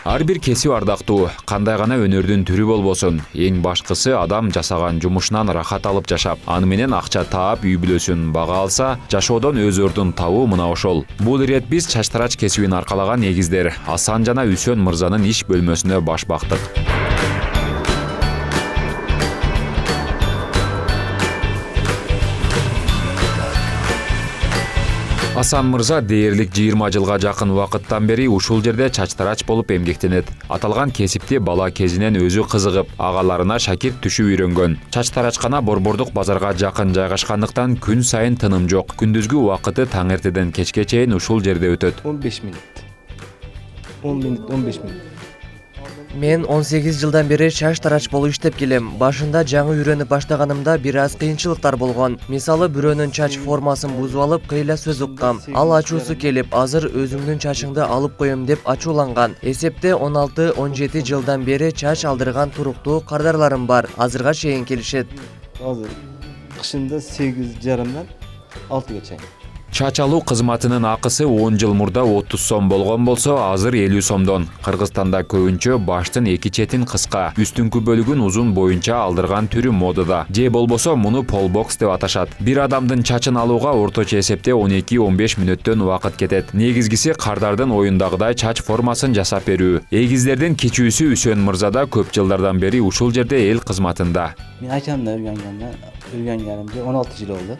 Ар бир кесип ардактуу, кандай гана өнөрдүн түрү болбосун, эң башкысы адам жасаган жумушунан рахат алып жашап, аны менен акча таап, үй бүлөсүн бага алса, жашоодон өз ордун табуу мына ошол. Бул ирет биз чачтарач кесибин аркалаган негиздер Асан жана Үсөн мырзанын иш бөлмөсүнө баш бактык. Асан мырза дээрлик 20 жылга жакын убакыттан бери ушул жерде чачтарач болуп эмгектенет. Аталган кесипти бала кезинен өзү кызыгып, агаларына шакирт түшүп үйрөнгөн. Чачтарачкана Борбордук базарга жакын жайгашкандыктан күн сайын тыным жок. Күндүзгү убакыты таң эртеден кечке чейин ушул жерде өтөт. 15 минут. 15 минут. Мен 18 жылдан бери чачтарач болуп иштеп келем. Башында жаңы үйрөнүп баштаганымда бир аз кыйынчылыктар болгон. Мисалы бирөөнүн чач формасын бузуп алып, кыйла сөз уккам. Ал ачуусу келип, азыр өзүңдүн чачыңды алып коем деп ачууланган. Эсепте 16-17 жылдан бери чач алдырган туруктуу кардарларым бар. Азырга чейин келишет. Азыр кышында 8,5-дан 6га чейин. Чач алуу кызматынын акысы 10 жыл мурда 30 сом болгон болсо, азыр 50 сомдон. Кыргызстанда көбүнчө баштын эки четин кыска, үстүңкү бөлүгүн узун боюнча алдырган түрү модада. Же болбосо муну полбокс деп аташат. Бир адамдын чачын алууга орточо эсепте 12-15 мүнөттөн убакыт кетет. Негизгиси кардардын оюндагыдай чач формасын жасап берүү. Эгиздердин кичүүсү Үсөн мырзада көп жылдардан бери ушул жерде эл кызматында. Мен айчамда үйрөнгөнүмдө 16 жыл болду.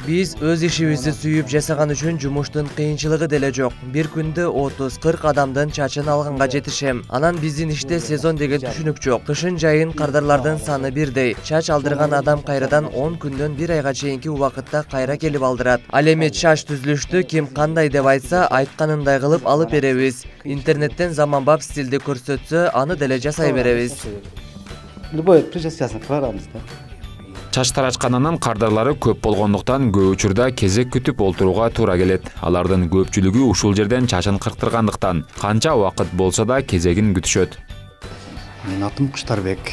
Биз өз ишибизди сүйүп жасаган үчүн жумуштун кыйынчылыгы деле жок. Бир күндө 30-40 адамдын чачын алганга жетишем. Анан биздин иште сезон деген түшүнүк жок. Кышын жайын кардарлардын саны бирдей. Чач алдырган адам кайрадан 10 күндөн 1 айга чейинки убакытта кайра келип алдырат. Ал эми чач түзүлүштү ким кандай деп айтса, айтканындай кылып алып беребиз. Интернеттен заманбап стилди көрсөтсө, аны деле жасай беребиз. Любой прическасын кылабыз да. Чачтарачкананын кардарлары көп болгондуктан көп учурда кезек күтүп олтурууга туура келет. Алардын көпчүлүгү ушул жерден чачын кырктыргандыктан канча убакыт болсо да кезегин күтүшөт. Менин атым Куштарбек.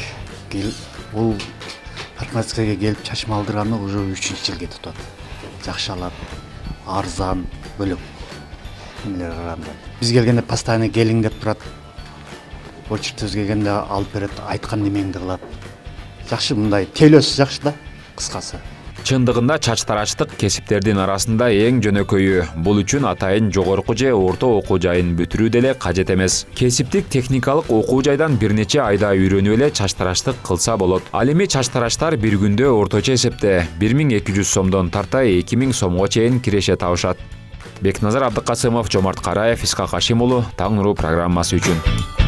Бул парикмахерскийге келип чачымды алдырганы уже 3-жылга кетип атат. Жакшы алат, арзан, бөлөк. Эмелер караганда. Биз келгенде постоянно келиң деп турат. Очередь келгенде алып берет, айткан немеңди кылат. Жакшы мындай тейлөөсү жакшы да, кыскасы. Чындыгында чачтарачтык кесиптердин арасында эң жөнөкөйү. Бул үчүн атайын жогорку же орто окуу жайын бүтүрүү деле кажет эмес. Кесиптик техникалык окуу жайдан бир нече айда үйрөнүп эле чачтарачтык кылса болот. Ал эми чачтарачтар бир күндө орточо эсепте 1200 сомдон тарта 2000 сомго чейин киреше табышат. Бекназар Абдыкасымов, Жомарт Караев, Исхак Ашим уулу, Таң нуру программасы үчүн.